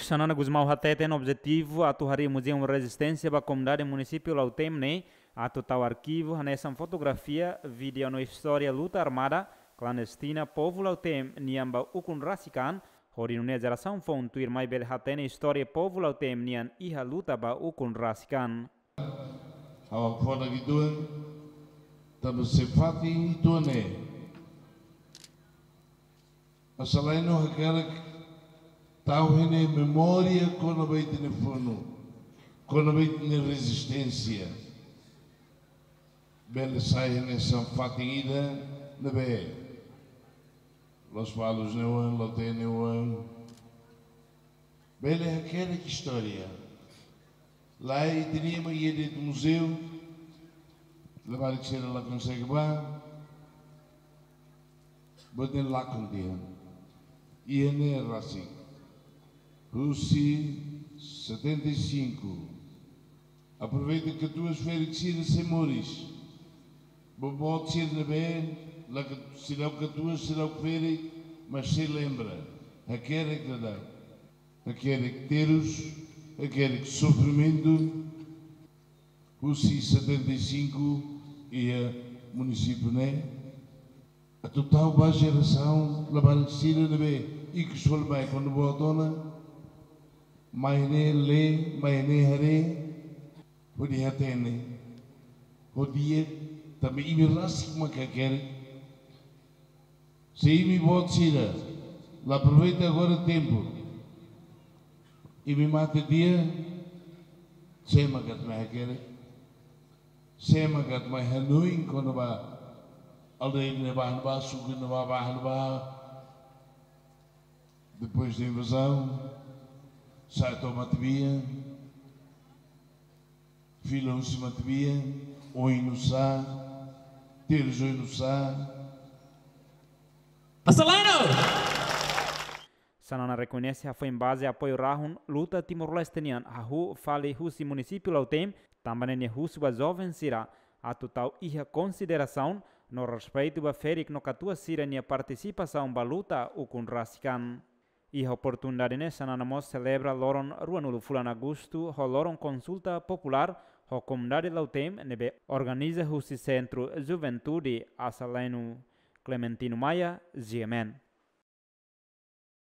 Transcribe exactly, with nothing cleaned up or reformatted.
Xanana Gusmão hateten objetivu atu harii Muzeu Rezisténsia ba komunidade munisípiu Lautém ne'e atu tau arkivu hanesan fotografia, vídeo no istória luta armada klandestina povu Lautém nian ba ukun rasik an, hodi nune'e jerasaun foun tuirmai bele hatene istória povu Lautém nian iha luta ba ukun rasik an. Ha'u hakfodak uitoan, tanba sei fatin uitoan ne'e. Asaleno hakerek tau hene memória kona-ba ita-nia funu, kona-ba ita-nia rezisténsia. Bele sai hanesan fatin ida ne'ebé Lospalos nia oan, Lautém nia oan. Bele hakerek istória. Lai ita-nia ema iha de'it muzeu, labarik sira la konsege bá, boot ne'e lakon tiha. Iha ne'e rasik. Husi setenta e cinco. Aproveita katuas ferik sira sei moris. Boboot sira ne'ebé, la ka-, seidauk katuas, seidauk ferik, mas sei lembra. Hakerek daudaun. Hakerek terus, hakerek sofrimentu. Husi setenta e cinco iha munisípiu ne'e. Atu tau ba jerasaun labarik sira ne'ebé ikus fali mai kuandu boot ona. Mai ne'e lee, mai ne'e haree. Hodi hatene. Hodi iha, tanba imi rasik mak hakerek. Se imi boot sira la aproveita agora tempu, imi mate tiha, sé mak atu mai hakerek? Sé mak atu mai hanoin kona-ba aldeia ne'ebá, ne'ebá, suku ne'ebá, bairru ne'ebá? Depois da invasão, sai to'o matebian, fila husi matebian, oin nusá, terus oin nusá. Asaleno! Xanana rekoñese hafoin baze apoiu rahun luta Timor-Leste nian hahú fali husi munisípiu Lautém, tanba ne'e nia husu ba joven sira atu tau iha konsiderasaun no respeitu ba ferik no katuas sira-nia partisipasaun ba luta ukun rasik an. Iha oportunidade ne'e Xanana mós selebra loron ruanulu fulan Agostu ho loron konsulta populár ho komunidade Lautém ne'ebé organiza husi Sentru Juventude Asaleno. Clementino Maia, G M N.